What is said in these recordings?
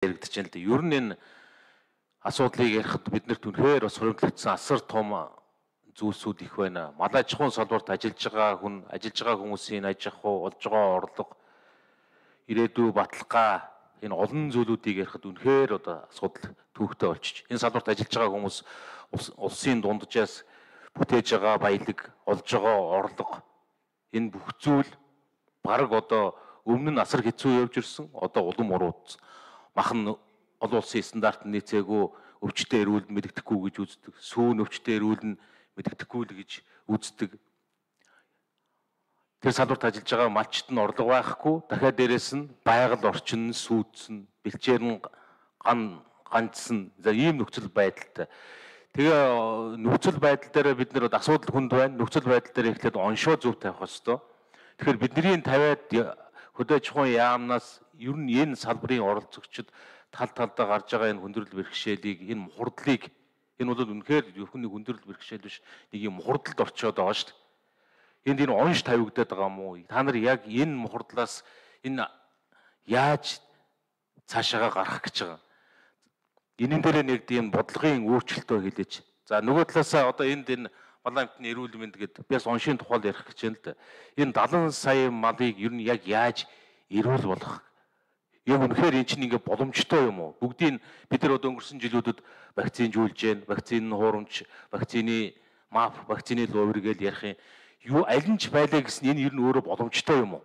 яригдж байна л да. Ер нь энэ асуудлыг ярихад биднэрт үнэхээр бас хоригдлогдсон асар том зүйлсүүд их байна. Малай чухал салбарт ажиллаж байгаа хүмүүсийн аж ахуй, олж байгаа орлого, ирээдүй баталгаа энэ олон зүйлүүдийг ярихад үнэхээр одоо асуудал төвөгтэй болчих. Энэ салбарт ажиллаж байгаа хүмүүс улсын дунджаас бүтээж байгаа баялаг, олж байгаа орлого энэ бүх зүйл бараг одоо өмнө нь асар хэцүү явж ирсэн, одоо улам уруудсан. Махан олон улсын стандарт нийцээгүй, өвчтөе эрүүл мэддэхгүй гэж үздэг. Сүүн өвчтөе эрүүл нь мэддэхгүй л гэж үздэг. Тэр салбарт ажиллаж байгаа малчт нь орлого байхгүй, дахиад дээрэс нь байгаль орчин нь сүйдсэн, бэлчээр нь ганцсан. За ийм нөхцөл байдалтай. Тэгээ нөхцөл байдал дээр бид нэр асуудал хүнд байна. Нөхцөл байдал дээр эхлээд оншоо зөв тавих хэрэгтэй. Тэгэхээр бидний тавиад хөдөө аж ахуйн яамнаас ер нь энэ салбарын оролцогчид талдаа гарч байгаа энэ хүндрэл бэрхшээлийг, энэ мухардлыг, энэ бол үнэхээр зөвхөн нэг хүндрэл бэрхшээл биш, нэг юм мухардалд орчоод байгаа шүү дээ. Энэ онш тавигдаад байгаа юм уу? Та нар яг энэ мухардлаас энэ яаж цаашаага гарах гэж байгаа? Энийн дээр нэг тийм бодлогын өөрчлөлтөө хэлээч. За нөгөө талаасаа одоо энэ малын амтны эрүүл мэнд гэдэг би бас оншийн тухайл ярих гэж байна л да. Энэ 70 сая малыг ер нь яг яаж эрүүл болгох? Яг үнэхээр эн чинь ингээ боломжтой юм уу? Бүгдийг бид нар одоо өнгөрсөн жилүүдэд вакцинжуулж байна. Вакцины хуурамч, вакцины МАП, вакцины ловер гэж ярих юм. Юу аль нь ч байлаа гэсэн энэ ер нь өөрөө боломжтой юм уу?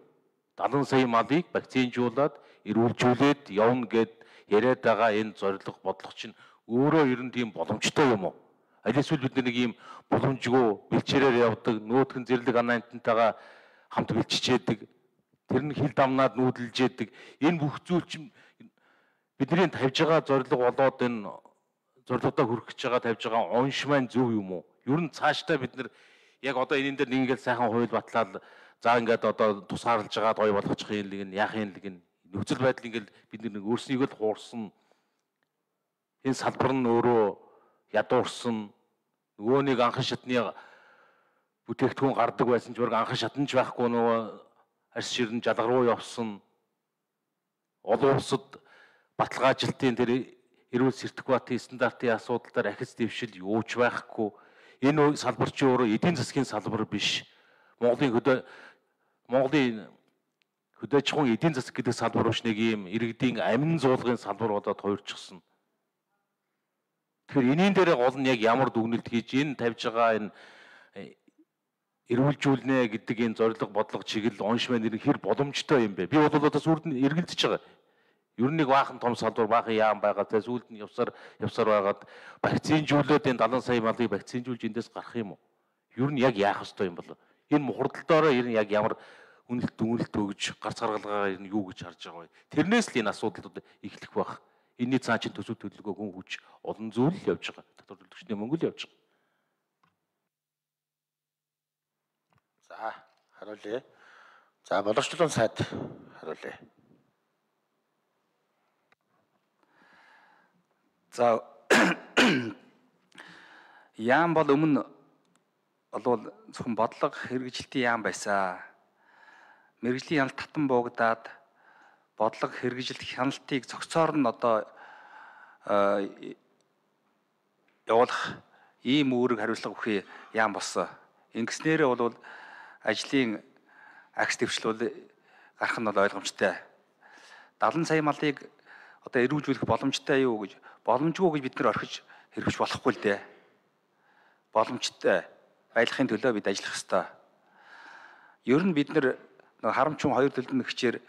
70 сая малыг вакцинжуулаад эрүүлжүүлээд явна гэд яриад байгаа энэ зорилго бодлого чинь өөрөө ер нь тийм боломжтой юм уу? Аль эсвэл бид нэг ийм боломжгүй бэлчээрээр явдаг, нөөтгөн зэрлэг анаантантайгаа хамт бэлчижээдэг, тэр нь хил дамнаад нүүдэлж яадаг. Энэ бүх зүйл чинь бидний тавьж байгаа зорилго болоод энэ зорилгодоо хүрэх гэж байгаа тавьж байгаа онш маань зөв юм уу? Ер нь цаашдаа бид нар яг одоо энэ дээр нэг ингээл сайхан хууль батлаад за ингээд одоо тусгаарлаж байгаа гоё болгочих юм лэг нь яахын лэг нь нөхцөл байдал ингээл бид нэг өөрснийгөө л хуурсан. Энэ салбар нь өөрөө ядуурсан. Нөгөө нэг анхан шатны бүтээгдэхүүн гардаг байсан ч баг анхан шатанч байхгүй нөгөө арьс ширэн жалгар руу явсан. Олон улсад баталгаажилтын тэр эрүүл сертификатын стандартын асуудал дээр ахиц дэвшил юуч байхгүй. Энэ салбар чи өөрөө эдийн засгийн салбар биш. Монголын хөдөө аж ахуйн эдийн засаг гэдэг салбар биш, нэг юм иргэдийн амин зуулгын салбар болоод хувирчихсан. Тэгэхээр энийн дээр гол нь яг ямар дүгнэлт хийж энэ тавьж байгаа энэ эрүүлжүүлнэ гэдэг энэ зорилго бодлого чиглэл онш маань хэр боломжтой юм бэ? Би бол одоо сүрд нь эргэлдэж байгаа. Ер нь нэг баахан том салбар, баахан яам байгаа. За сүлд нь явсаар байгаад вакцинжуулаад энэ 70 сая малыг вакцинжуулж эндээс гарах юм уу? Ер нь яг яах ёстой юм бол? Энэ мухардалдоороо ер нь яг ямар үнэлт дүгнэлт өгж гарц гаргалгаа ер нь юу гэж харж байгаа вэ? Тэрнээс л энэ асуудлууд эхлэх байх. Энийний цаан чинь төсөв төлөвлөгөө хүн хүч олон зүйл явж байгаа. Татвар төлөгчний мөнгө л явж байгаа. За хариулъя. За боловсчлон сайд хариулъя. За яам бол өмнө болвол зөвхөн бодлого хэрэгжилтийн яам байсан. Мэргэжлийн хяналт татан буугдаад бодлого хэрэгжилт хяналтыг цогцоор нь одоо явуулах ийм үүрэг хариуцлага өгөх яам болсон. Ингэснээрээ бол ажлын агс дэвшлүүл гарах нь бол ойлгомжтой. 70 сая малыг одоо эрүүлжүүлэх боломжтой юу гэж боломжгүй гэж бид нар орхиж хэрэгжиж болохгүй л дээ. Боломжтой байлгахын төлөө бид ажиллах ёстой. Ер нь бид нар харамчун хоёр төлөвлөлт нэгчээр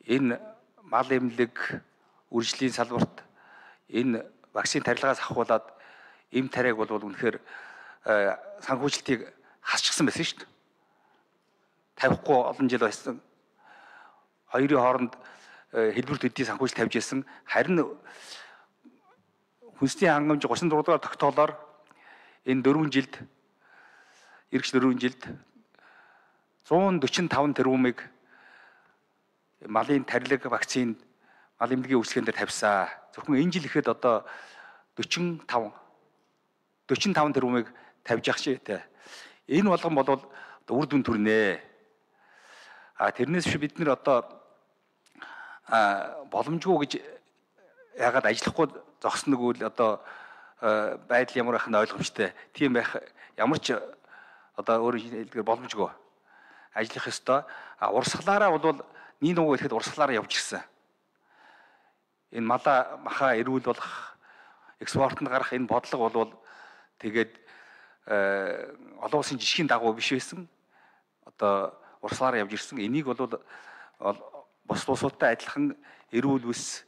энэ мал эмнэлэг үржлийн салбарт энэ вакцины тарилгаас ахуулаад эм тариаг бол үнэхээр санхүүжилтийг хасчихсан байсан шүү дээ. Тавихгүй олон жил байсан. Хоёрын хооронд хэлбэр төдий санхүүжилт тавьж ирсэн. Харин хүнсний хангамж 34 дугаар тогтоолоор энэ 4 жилд ергч 4 жилд 145 тэрбумыг малын тарилга вакцинд мал эмнэлгийн үйлчлэгэн дээр тавьсан. Зөвхөн энэ жил ихэд одоо 45 тэрбумыг тавьж ах шээ. Энэ болгон бол үр дүн төрнэ. Тэрнээс биш бид нэр одоо боломжгүй гэж ягаад ажиллахгүй зогсног үл одоо байдал ямар байх нь ойлгомжтой. Тийм байх ямар ч одоо өөрөөр хэлбэл боломжгүй. Ажиллах ёстой. Урсгалаараа бол нэг нөгөө ихэд урсгалаараа явж ирсэн. Энэ маха эрүүл болох экспортод гарах энэ бодлого бол тэгээд олон улсын жишгийн дагуу биш байсан. Одоо урсгалаараа явж ирсэн. Энийг бол бус улсуудтай адилхан эрүүл үс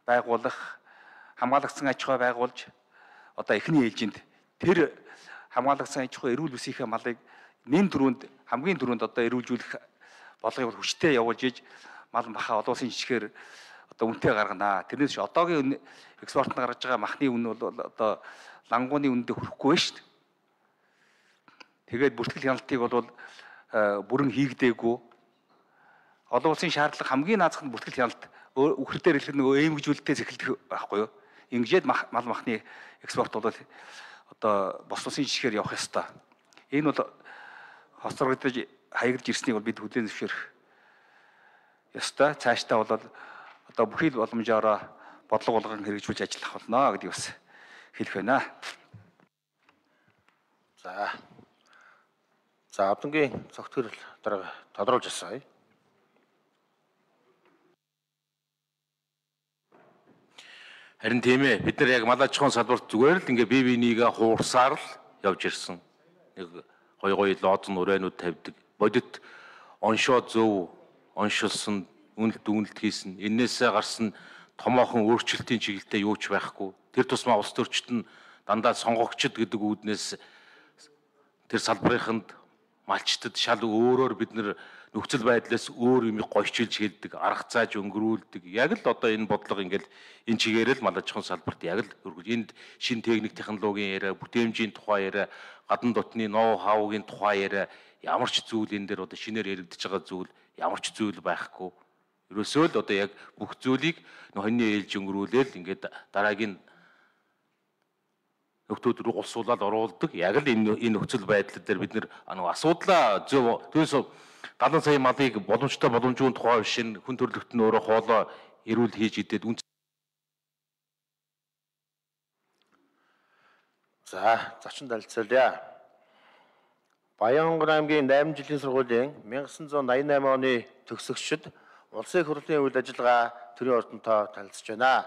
байгуулах, хамгаалагдсан аж ахуй байгуулж одоо эхний ээлжинд тэр хамгаалагдсан аж ахуй эрүүл үсийнхээ малыг нэн дөрөнд хамгийн дөрөнд одоо эрүүлжүүлэх бодлогыг хүчтэй явуулж иж мал маха олон улсын жишгээр одоо үнэтэй гаргана. Тэрнээс одоогийн экспортод гаргаж байгаа махны үн бол одоо лангууны үнэндээ хүрэхгүй байна шүү дээ. Тэгээд бүртгэл хяналтыг бол бүрэн хийгдээгүй. Олон улсын шаардлага хамгийн наазах нь бүртгэл хяналт үхрээр хэлэх нөгөө ээмгжүүлэлтээс эхэлдэг байхгүй юу? Ингэжээд мал махны экспорт бол одоо бос улсын жишгээр явах ёстой. Энэ бол хоцрогдож хаягдж ирснийг бол бид хүлээн зөвшөөрөх ёстой. Цаашдаа бол одоо бүхий л боломжоор бодлого болгон хэрэгжүүлж ажиллах болно гэдгийг бас хэлэх байна. За одонгийн цогтгөрөл дарга тодруулж асууя. Харин тийм ээ, бид нар яг мал аж ахуйн салбарт зүгээр л ингээ бие бинийгээ хуурсаар л явж ирсэн. Нэг гой лоозн урээнүүд тавьдаг. Бодит оншоо зөв оншилсан, үнэлт хийсэн. Эннээсээ гарсан томоохон өөрчлөлтийн чиглэлтэй юу ч байхгүй. Тэр тусмаа улс төрчид нь дандаа сонгогчд гэдэг үүднээс тэр салбарынханд малчтад шал өөрөөр бид нар нөхцөл байдлаас өөр юм гойчилж хэлдэг, арга зааж өнгөрүүлдэг. Яг л одоо энэ бодлого ингээл энэ чигээрэл мал аж ахуйн салбарт яг л өргөж энд шин техник технологийн яриа, бүтээмжийн тухай яриа, гадна дотны ноу хаугийн тухай яриа ямар ч зүйл энэ дээр одоо шинээр яригдж байгаа зүйл ямар ч зүйл байхгүй. Ерөөсөө л одоо яг бүх зүйлийг хоньны ээлж өнгөрүүлээл ингээд дараагийн нөхдүүд рүү улсуулаад оруулдаг. Яг л энэ нөхцөл байдал дээр бид нэр асуудлаа зөв түүнээс 70 сая малыг боломжтой боломжгүй тухай шин хүн төрөлхтөн өөрөө хоолоо эрүүл хийж идээд За, зочин танилцуулъя. Баянгол аймгийн 8 жилийн сургуулийн 1988 оны төгсөгчид улсын их хурлын үйл ажиллагаа төрийн ордонтой танилцж байна.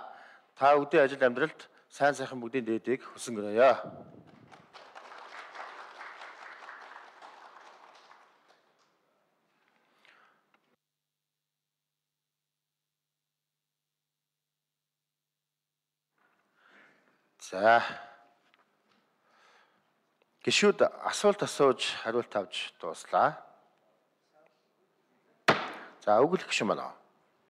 Та өдөө ажил амьдралд сайн сайхан бүгдийн дээдийг хүсэн гинэё. За. Гишүүд асуулт асууж хариулт авч дууслаа. За, өгөх гишүүн байна.